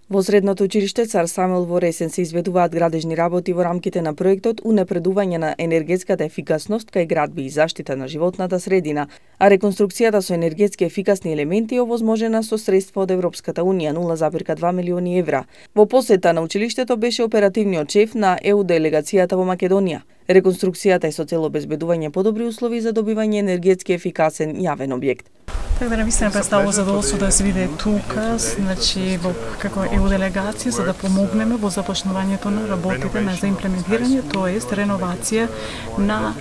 Во средното училиште Цар Самуил во Ресен се изведуваат градежни работи во рамките на проектот Унапредување на енергетската ефикасност кај градби и заштита на животната средина, а реконструкцијата со енергетски ефикасни елементи е овозможена со средства од Европската Унија 0,2 милиони евра. Во посета на училиштето беше оперативниот шеф на ЕУ делегацијата во Македонија. Реконструкцијата е со цел обезбедување подобри услови за добивање енергетски ефикасен јавен објект. Така да навистина представува задоволство да се види тука, значи во како ЕУ делегација за да помогнеме во започнувањето на работите на за имплементирање, тоест реновација на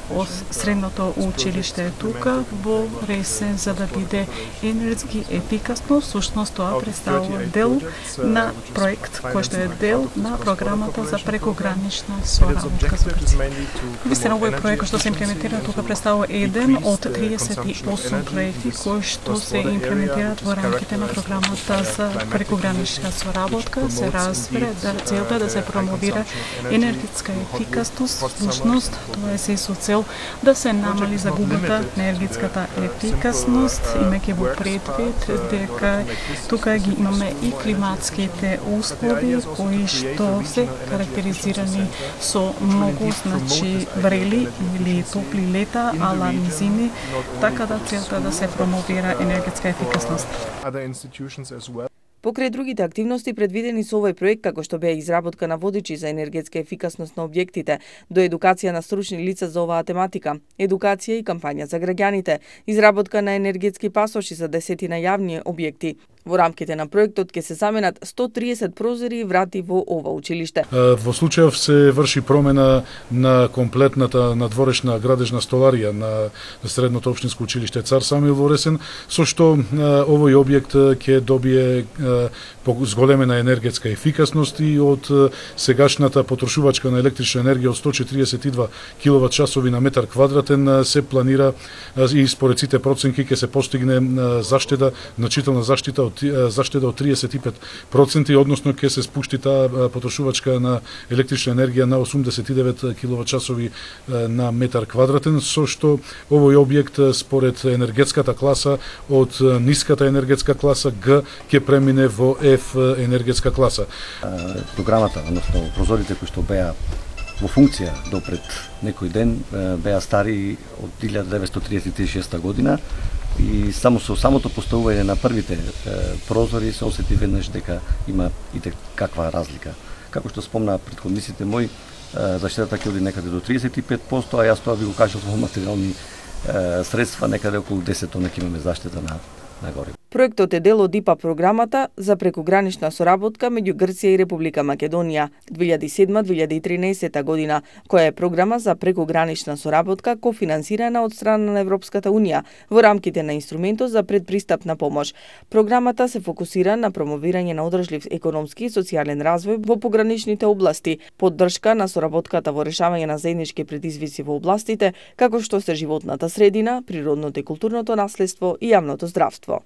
средното училиште тука во Ресен за да биде енергетски ефикасно. Всушност тоа представува дел на проект кој што е дел на програмата за прекогранична соработка со Грција. Вистина овој проект што се имплементира тука представува еден од 38 проекти кои што се имплементираат во рамките на програмата за прекогранична соработка. Се разбира да целта да се промовира енергетска ефикасност, всушност тоа е се со цел да се намали загубата на енергетската ефикасност, имајќи во предвид дека тука ги имаме и климатските услови кои што се карактеризирани со многу врели или топли лета, ала низини, така да целта да се промовира енергетска ефикасност. Покрај другите активности предвидени со овој проект, како што беа изработка на водичи за енергетска ефикасност на објектите, до едукација на стручни лица за оваа тематика, едукација и кампања за граѓаните, изработка на енергетски пасоши за 10 јавни објекти. Во рамките на проектот ќе се заменат 130 прозори и врати во ова училиште. Во случајов се врши промена на комплетната надворешна градежна столарија на средното општинско училиште Цар Самуил во Ресен, со што овој објект ќе добие зголемена енергетска ефикасност и од сегашната потрошувачка на електрична енергија од 142 киловат часови на метар квадратен се планира и според сите проценки ќе се постигне заштеда, значителна заштита од 35%, односно ќе се спушти таа потрошувачка на електрична енергија на 89 киловат часови на метар квадратен, со што овој објект според енергетската класа од ниската енергетска класа Г ќе премине во F енергетска класа. Програмата, односно прозорите кои што беа во функција допред некој ден беа стари од 1936 година и само со самото поставување на првите прозори се осети веднаш дека има и каква разлика. Како што спомна претходниците мои, заштитата ќе оди некаде до 35%, а јас тоа ви го кажав во материјални средства, некаде околу 10 тона ќе имаме заштита на гориво. Проектот е дел од ИПА програмата за прекогранична соработка меѓу Грција и Република Македонија 2007-2013 година, која е програма за прекогранична соработка кофинансирана од страна на Европската Унија во рамките на инструментот за предпристапна помош. Програмата се фокусира на промовирање на одржлив економски и социјален развој во пограничните области, поддршка на соработката во решавање на заеднички предизвици во областите како што се животната средина, природното и културното наследство и јавното здравство.